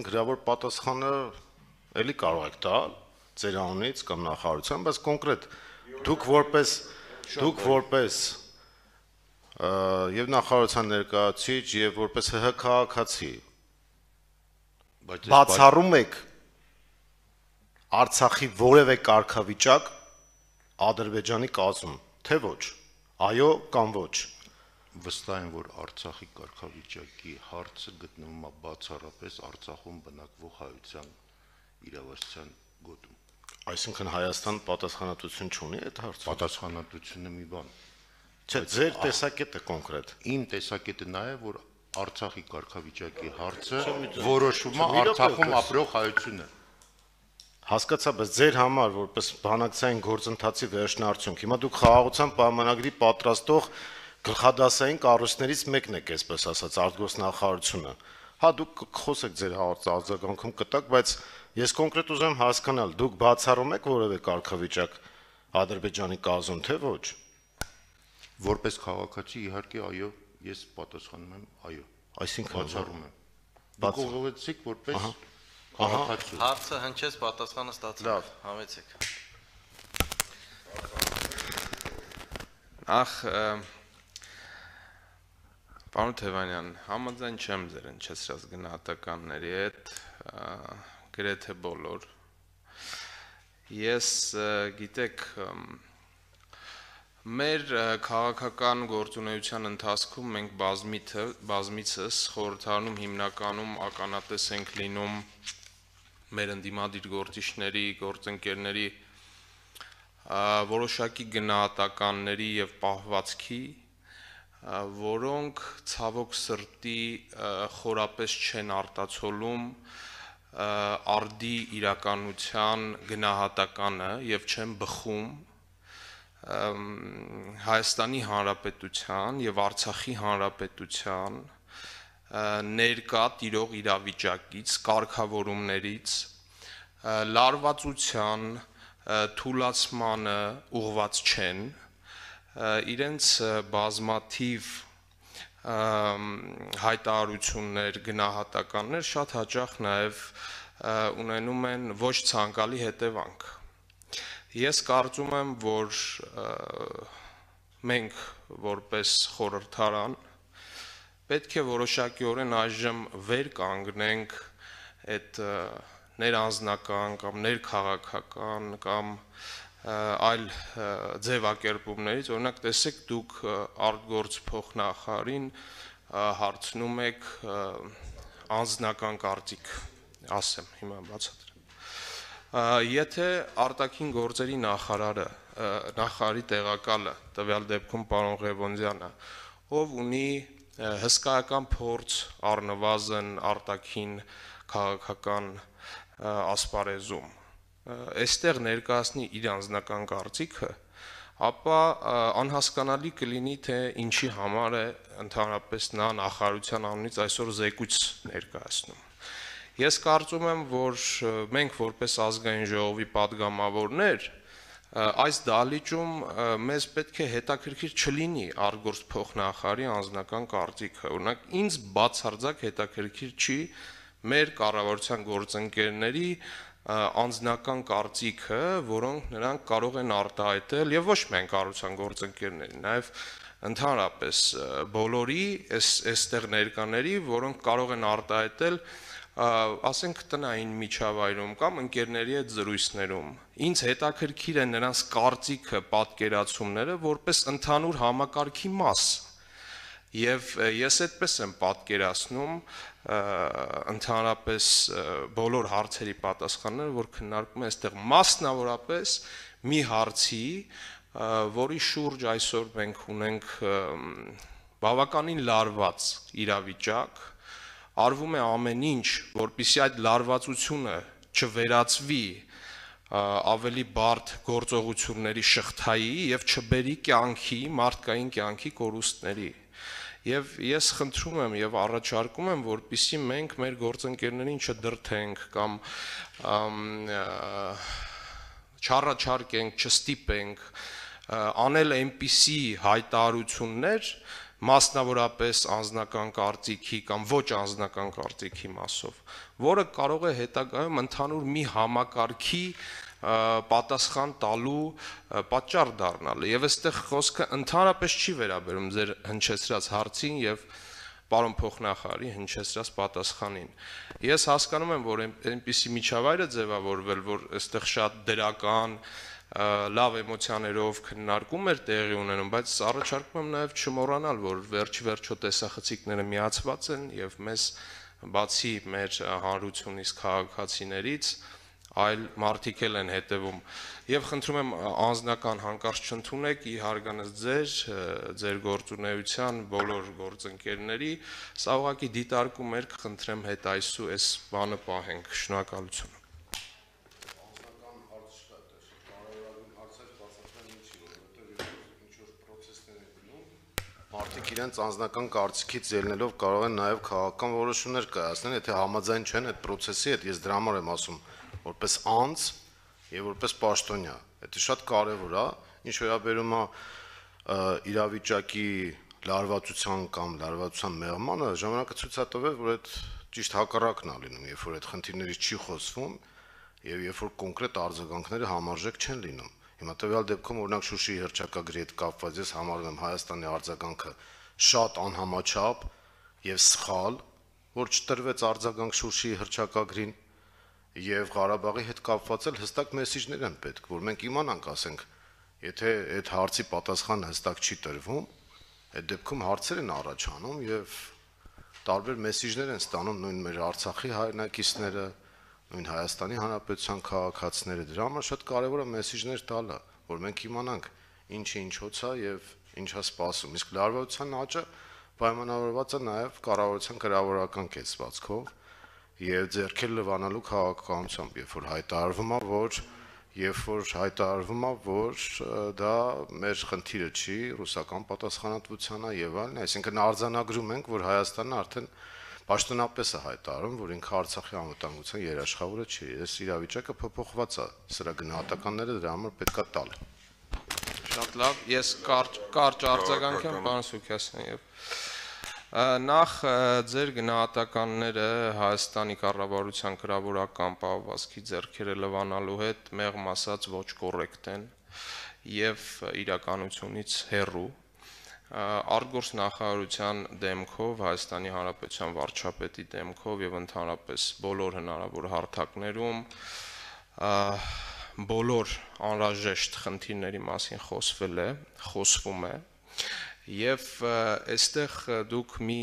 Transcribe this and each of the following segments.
Գրավոր պատասխանը էլի կարող եք տալ ձեր անունից կամ նախարարության, բայց կոնկրետ դուք որպես եւ նախարարության ներկայացուցիչ եւ որպես ՀՀ քաղաքացի բացառում եք Արցախի որևէ կարգավիճակ Ադրբեջանի կազմում, թե ոչ, այո կամ ոչ։ Վստահ եմ, որ Արցախի կարգավիճակի հարցը գտնվում է բացառապես Արցախում բնակվող հայության իրավասության գոտում։ Այսինքն Հայաստան պատասխանատվություն չունի այդ հարցում։ Պատասխանատվությունը մի բան։ Չէ, ձեր տեսակետը կոնկրետ։ Իմ տեսակետը նա է, որ Արցախի կարգավիճակի հարցը որոշվում է Արցախում ապրող հայությունը։ Հասկացա, բայց ձեր համար որպես բանակցային գործընթացի վերջնարդյունք, հիմա դուք խաղաղության պայմանագրի պատրաստող գլխադասային կառույցներից մեկն եք, այսպես ասած, արտգործնախարարությունը։ Հա, դուք խոսեք ձեր արձագանքում կտակ, բայց ես կոնկրետ ուզում հասկանալ, դուք բացառում եք որևէ կարգավիճակ Ադրբեջանի կազմում, թե ոչ։ Որպես քաղաքացի, իհարկե, այո, ես պատասխանում եմ այո։ Այսինքն բացառում եմ։ Դուք ուղղեցիք որպես քաղաքացի։ Հարցը հնչեց, պատասխանը ստացեք։ Լավ, համեցեք։ Ախ, պարոն Թևանյան, համաձայն չեմ ձեր հնչեցրած գնահատականների հետ, գրեթե բոլոր։ Ես գիտեք, մեր քաղաքական գործունեության ընթացքում մենք բազմիցս խորհրդարանում հիմնականում ականատես ենք լինում մեր ընդդիմադիր գործիչների, գործընկերների որոշակի գնահատականների եւ պահվածքի, որոնք ցավոք սրտի խորապես չեն արտացոլում արդի իրականության գնահատականը եւ չեն բխում Հայաստանի Հանրապետության եւ Արցախի Հանրապետության ներկա տիրող իրավիճակից, կարգավորումներից, լարվածության, թուլացմանը ուղղված չեն, իրենց բազմաթիվ հայտարարություններ, գնահատականներ շատ հաճախ նաեւ ունենում են ոչ ցանկալի հետևանք։ Ես կարծում եմ, որ մենք որպես խորհրդարան պետք է որոշակիորեն այժմ վեր կանգնենք այդ ներանձնական կամ ներքաղաքական կամ այլ ձևակերպումներից, օրինակ տեսեք դուք արտգործ փոխնախարարին հարցնում եք անձնական կարծիք, ասեմ, հիմա բացատրեմ։ Եթե արտաքին գործերի նախարարի տեղակալը, տվյալ դեպքում պարոն Ղևոնդյանը, ով ունի հսկայական փորձ առնվազն արտաքին քաղաքական ասպարեզում, այստեղ ներկայացնի իր անձնական կարծիքը, ապա անհասկանալի կլինի, թե ինչի համար է ընդհանրապես նա նախարարության անունից այսօր զեկույց ներկայացնում։ Ես կարծում եմ, որ մենք որպես ազգային ժողովի падգամավորներ այս դահլիճում մեզ պետք է հետաքրքիր չլինի արտգործ փոխնախարարի անձնական կարծիքը։ Օրինակ ինձ բացարձակ հետաքրքիր չի մեր կառավարության գործընկերների անձնական կարծիքը, որոնք նրանք կարող են արտահայտել եւ ոչ միայն կառավարության գործընկերների, նաեւ ընդհանրապես բոլորի այստեղ ներկաների, որոնք կարող են արտահայտել ասենք տնային միջավայրում կամ ընկերների հետ զրույցներում։ Ինձ հետաքրքիր է նրանց կարծիքը, պատկերացումները որպես ընդհանուր համակարգի մաս։ Եվ ես այդպես եմ պատկերացնում ընդհանրապես բոլոր հարցերի պատասխանները, որ քննարկում են այստեղ մասնավորապես մի հարցի, որի շուրջ այսօր մենք ունենք բավականին լարված իրավիճակ, արվում է ամեն ինչ, որպեսզի այդ լարվածությունը չվերածվի ավելի բարդ գործողությունների շղթայի եւ չբերի կյանքի, մարդկային կյանքի կորուստների։ Եվ ես խնդրում եմ եւ առաջարկում եմ, որպեսզի մենք մեր գործընկերներին չդրթենք կամ չառաջարկենք, չստիպենք անել այնպիսի հայտարարություններ, մասնավորապես անձնական կարծիքի կամ ոչ անձնական կարծիքի մասով, որը կարող է հետագայում ընդհանուր մի համակարգի պատասխան տալու պատճառ դառնալ։ Եվ այստեղ խոսքը ընդհանրապես չի վերաբերում ձեր հնչեցրած հարցին եւ պարոն փոխնախարարի հնչեցրած պատասխանին։ Ես հասկանում եմ, որ այնպիսի միջավայր է ձևավորվել, որ այստեղ շատ դրական լավ էմոցիաներով քննարկում էր տեղի ունենում, բայց առաջարկում եմ նաև չմոռանալ, որ վերջի տեսախցիկները միացված են եւ մեզ բացի մեր հանրությունից քաղաքացիներից այլ մարդիկ էլ են հետևում եւ խնդրում եմ անձնական հանկարծ չընդունեք ի հարգանս ձեր գործունեության բոլոր գործընկերների, սա ուղղակի դիտարկում էր, կխնդրեմ հետ այսու այս բանը պահենք, շնորհակալություն։ Մարդիկ իրենց անձնական կարծիքից ելնելով կարող են նաև քաղաքական որոշումներ կայացնել, եթե համաձայն չեն այդ process-ի հետ, ես դրա համար եմ ասում, որպես անձ եւ որպես պաշտոնյա։ Դա շատ կարեւոր է, ինչ վերաբերում է իրավիճակի լարվածության կամ լարվածության մեղմանը, ժամանակը ցույց է տվել, որ այդ ճիշտ հակառակն է լինում, երբ որ այդ խնդիրներից չի խոսվում եւ երբ որ կոնկրետ արձագանքները համարժեք չեն լինում։ Հիմա տվյալ դեպքում օրինակ Շուշիի հռչակագրի հետ կապված ես համարում եմ Հայաստանի արձագանքը շատ անհամաչափ եւ սխալ, որ չտրվեց արձագանք Շուշիի հռչակագրին եւ Ղարաբաղի հետ կապված էլ հստակ մեսիջներ են պետք, որ մենք իմանանք, ասենք, եթե այդ հարցի պատասխանը հստակ չի տրվում, այդ դեպքում հարցեր են առաջանում եւ տարբեր մեսիջներ են ստանում նույն մեր Արցախի հայրենակիցները, նույն Հայաստանի Հանրապետության քաղաքացիները, դրա համար շատ կարևոր է մեսիջներ տալը, որ մենք իմանանք ինչը ինչոց է եւ ինչ է սպասում։ Իսկ լարվածության աճը պայմանավորված է նաեւ կառավարության գրավորական կեցվածքով եւ ձեռքեր լվանալու քաղաքականությամբ, հայտարարվում է, որ դա մեր խնդիրը չի, ռուսական պատասխանատվության է եւ այլն, այսինքն արձանագրում ենք, որ Հայաստանը արդեն պաշտոնապես է հայտարարում, որ ինքը Արցախի անվտանգության երաշխավորը չի։ Այս իրավիճակը փոփոխված է, սրա գնահատականները դրա համար պետքա տալ։ Շատ լավ, ես կարճ արձագանք եմ, պարոն Սուքիասյան, եւ նախ ձեր գնահատականները Հայաստանի կառավարության գրավորական պահվածքի ձեռքերը լվանալու հետ մեղմ ասած ոչ կոռեկտ են եւ իրականությունից հեռու։ Արտգործ նախարարության դեմքով, Հայաստանի Հանրապետության վարչապետի դեմքով եւ ընդհանրապես բոլոր հնարավոր հարթակներում բոլոր անհրաժեշտ խնդիրների մասին խոսվում է եւ այստեղ դուք մի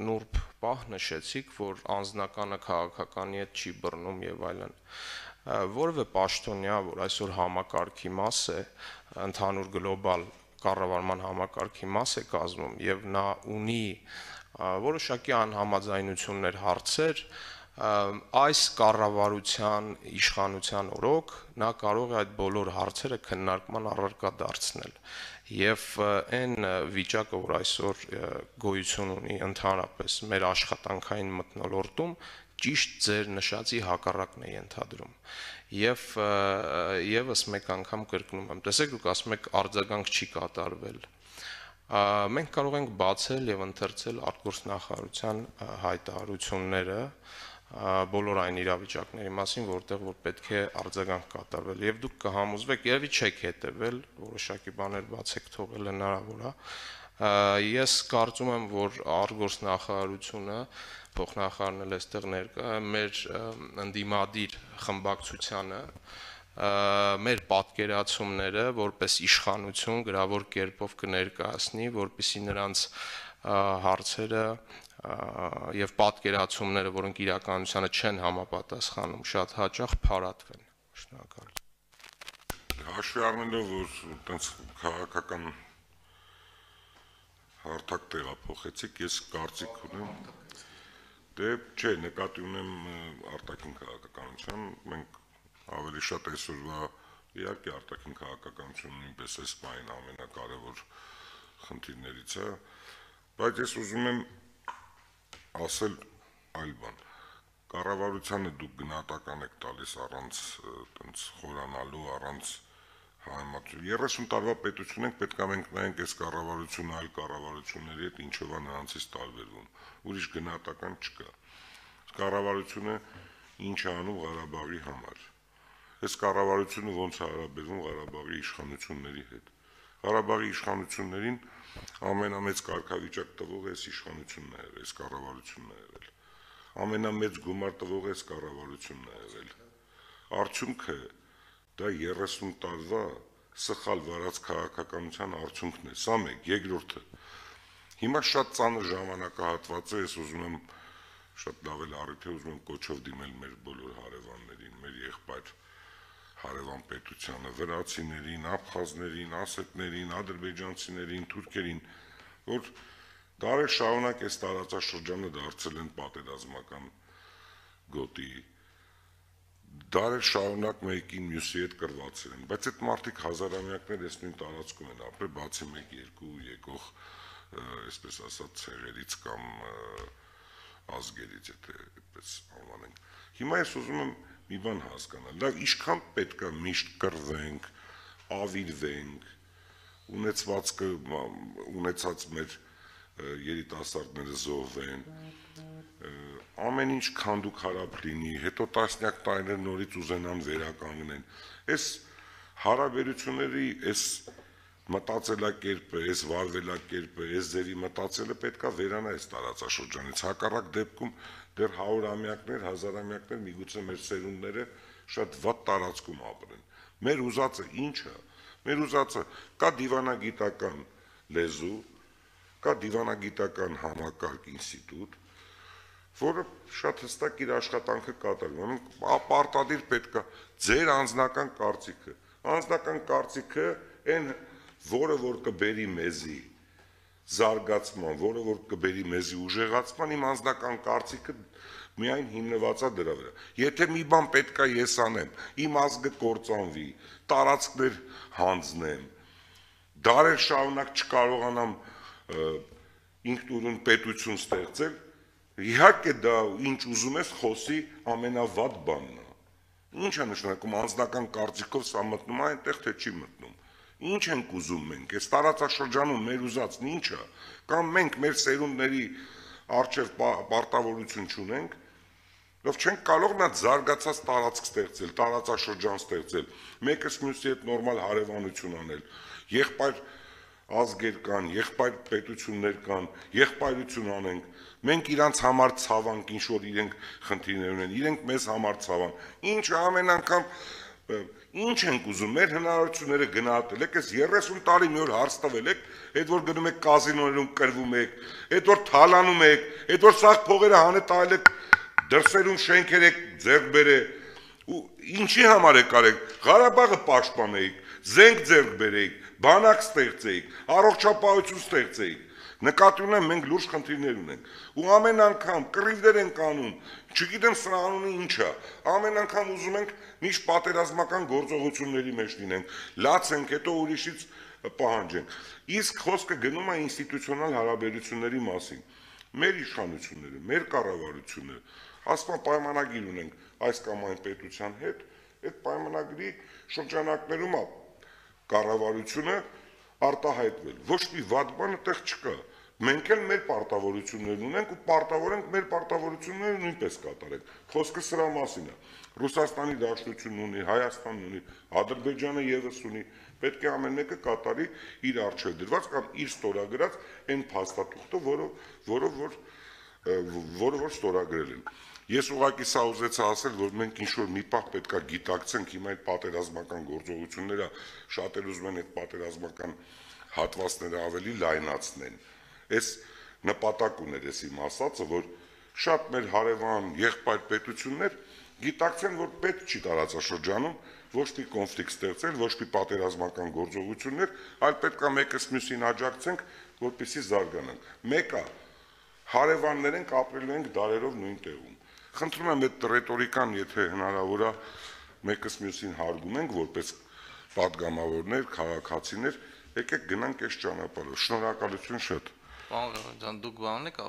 նուրբ պահ նշեցիք, որ անձնականը քաղաքականի հետ չի բռնում եւ այլն։ Որևէ պաշտոնյա, որ այսօր համակարգի մաս է, ընդհանուր գլոբալ կառավարման համակարգի մաս է կազմում եւ նա ունի որոշակի անհամաձայնություններ, հարցեր, այս կառավարության իշխանության օրոք նա կարող է այդ բոլոր հարցերը քննարկման առարկա դարձնել եւ այն վիճակը, որ այսօր գոյություն ունի ընդհանրապես մեր աշխատանքային մթնոլորտում, ճիշտ ձեր նշածի հակառակն է ենթադրում եւ եւս մեկ անգամ կրկնում եմ, տեսեք, դուք ասում եք արձագանք չի կատարվել, մենք կարող ենք բացել եւ ընթերցել արտգործ նախարարության հայտարարությունները բոլոր այն իրավիճակների մասին, որտեղ որ պետք է արձագանք կատարվել եւ դուք կհամոզվեք, երևի չեք հետեւել, որոշակի բաներ բաց եք թողել, հնարավոր է։ Ես կարծում եմ, որ արտգործ նախարարությունը փոխնախարարն էլ այստեղ ներկա է, մեր ընդդիմադիր խմբակցությանը մեր պատկերացումները որպես իշխանություն գրավոր կերպով կներկայացնի, որպեսզի նրանց հարցերը եւ պատկերացումները, որոնք իրականությանը չեն համապատասխանում, շատ հաճախ փարատվեն։ Շնորհակալ։ Հաշվի առնելով, որ այտենց քաղաքական հարթակ տեղափոխեցիք, ես կարծիք ունեմ, դե չէ, նկատի ունեմ արտաքին քաղաքականության, մենք ավելի շատ այսօրվա իհարկե արտաքին քաղաքականությունը նույնպես այս բանին ամենակարևոր խնդիրներից է, բայց ես ուզում եմ ասել այլ բան։ Կառավարությանը դուք գնահատական եք տալիս առանց տենց խորանալու, առանց համեմատություն 30 տարվա պետություն ենք, պետք է մենք նայենք այս կառավարությունը այլ կառավարությունների հետ ինչով է նրանցից տարբերվում։ Ուրիշ գնահատական չկա։ Կառավարությունը ինչ է անում Ղարաբաղի համար։ Այս կառավարությունը ոնց է հարաբերվում Ղարաբաղի իշխանությունների հետ։ Ղարաբաղի իշխանություններին ամենամեծ կարգավիճակ տվող այս իշխանությունն է եղել, այս կառավարությունն է եղել։ Ամենամեծ գումար տվող այս կառավարությունն է եղել։ Արդյունքը դա 30 տարվա սխալ վարած քաղաքականության արդյունքն է։ Սա մեկ, երկրորդը։ Հիմա շատ ծանր ժամանակահատված է, ես ուզում եմ շատ լավ էլ առիթ է, ուզում եմ կոչով դիմել մեր բոլոր հարևաններին, մեր եղբայր հարևան պետությանը, վրացիներին, աբխազներին, ասետներին, ադրբեջանցիներին, թուրքերին, որ դարեր շարունակ այս տարածաշրջանը դարձել են պատերազմական գոտի, դարեր շարունակ մեկին մյուսի հետ կռվածել են, բայց այդ մարդիկ հազարամյակներ այս նույն տարածքում են ապրել, բացի 1-2 եկող, այսպես ասած, ցեղերից կամ ազգերից, եթե այդպես անվանենք։ Հիմա ես ուզում եմ մի բան հասկանալ, լավ, ինչքան պետք է միշտ կռվենք, ավիրվենք, ունեցած մեր երիտասարդները զոհվեն, ամեն ինչ քանդուկ հարապ լինի, հետո տասնյակ տարիներ նորից ուզենան վերականգնեն։ Այս հարաբերությունների այս մտածելակերպը, այս վարվելակերպը, այս ձևի մտածելը պետքա վերանա այս տարածաշրջանից։ Հակառակ դեպքում դեռ 100-ամյակներ, 1000-ամյակներ միգուցե մեր սերունդները շատ վատ տարածքում ապրեն։ Մեր ուզածը ի՞նչ է։ Մեր ուզածը կա դիվանագիտական լեզու, կա դիվանագիտական համակարգ ինստիտուտ, որը շատ հստակ իր աշխատանքը կատարում։ Պարտադիր պետք է ձեր անձնական կարծիքը։ Անձնական կարծիքը այն, որը որ կբերի մեզի զարգացման, որը որ կբերի մեզի ուժեղացման, իմ անձնական կարծիքը միայն հիմնված է դրա վրա։ Եթե մի բան պետք է ես անեմ, իմ ազգը կործանվի, տարածքներ հանձնեմ, դարեր շարունակ չկարողանամ ինքնուրույն պետություն ստեղծել, իհարկե դա ինչ ուզում ես խոսի ամենավատ բանն է։ Ինչ է նշանակում անձնական կարծիքով սա մտնում է այնտեղ, թե չի մտնում։ Ինչ ենք ուզում մենք, այս տարածաշրջանում մեր ուզածն ինչ է, կամ մենք մեր սերունդների առջև պարտավորություն չունենք, ով չենք կարող նա զարգացած տարածք ստեղծել, տարածաշրջան ստեղծել, մեկս մյուսի հետ նորմալ հարևանություն անել, եղբայր ազգեր կան, եղբայր պետություններ կան, եղբայրություն անենք, մենք իրանց համար ցավանք, ինչ որ իրենք խնդիրներ ունեն, իրենք մեզ համար ցավան, ինչ ամեն անգամ ինչ ենք ուզում, մեր հնարավորությունները գնահատել եք, այս 30 տարի մի օր հարց տվել եք, այդ որ գնում եք կազինոներում կրվում եք, այդ որ թալանում եք, այդ որ սաղ փողերը հանե տալ եք, դրսերում շենքեր եք ձեռք բերել, ու ինչի համար եք արեք, Ղարաբաղը պաշտպանեիք, զենք ձեռք բերեիք, բանակ ստեղծեիք, առողջապահություն ստեղծեիք, նկատի ունեմ մենք լուրջ խնդիրներ ունենք, ու ամեն անգամ կռիվներ ենք անում, չգիտեմ սրա անունը ինչ է, ամեն անգամ ուզում ենք միշտ պատերազմական գործողությունների մեջ լինենք, լացենք, հետո ուրիշից պահանջենք, իսկ խոսքը գնում է ինստիտուցիոնալ հարաբերությունների մասին, մեր իշխանությունները, մեր կառավարությունը, ասում պայմանագիր ունենք այս կամ այն պետության հետ, այդ պայմանագրի շրջանակներում է կառավարությունը արտահայտվել, ոչ մի վատ բան այդտեղ չկա, մենք էլ մեր պարտավորություններն ունենք ու պարտավոր ենք մեր պարտավորությունները նույնպես կատարենք, խոսքը սրա մասին է, Ռուսաստանի Դաշնությունն ունի, Հայաստանն ունի, Ադրբեջանը ևս ունի, պետք է ամեն մեկը կատարի իր առջև դրված կամ իր ստորագրած այն փաստաթուղթը, որը որ ստորագրել են։ Ես ուղղակի սա ուզեցա ասել, որ մենք ինչ-որ մի պահ պետք է գիտակցենք հիմա այդ պատերազմական գործողությունները, շատեր ուզում են այդ պատերազմական հատվածները ավելի լայնացնեն։ Այս նպատակ ուներ ես իմ ասածը, որ շատ մեր հարևան եղբայր պետություններ գիտակցեն, որ պետք չի տարածաշրջանում ոչ մի կոնֆլիկտ ստեղծել, ոչ մի պատերազմական գործողություններ, այլ պետք է մեկս մյուսին աջակցենք, որպեսզի զարգանանք։ Մեկը հարևաններ ենք, ապրելու ենք դարերով նույն տեղում։ Խնդրում եմ այդ ռետորիկան, եթե հնարավոր է, մեկս մյուսին հարգում ենք, որպես պատգամավորներ, քաղաքացիներ, եկեք գնանք այս ճանապարհով։ Շնորհակալություն շատ։ Պարոն Ղևոնդյան, դուք բանն եք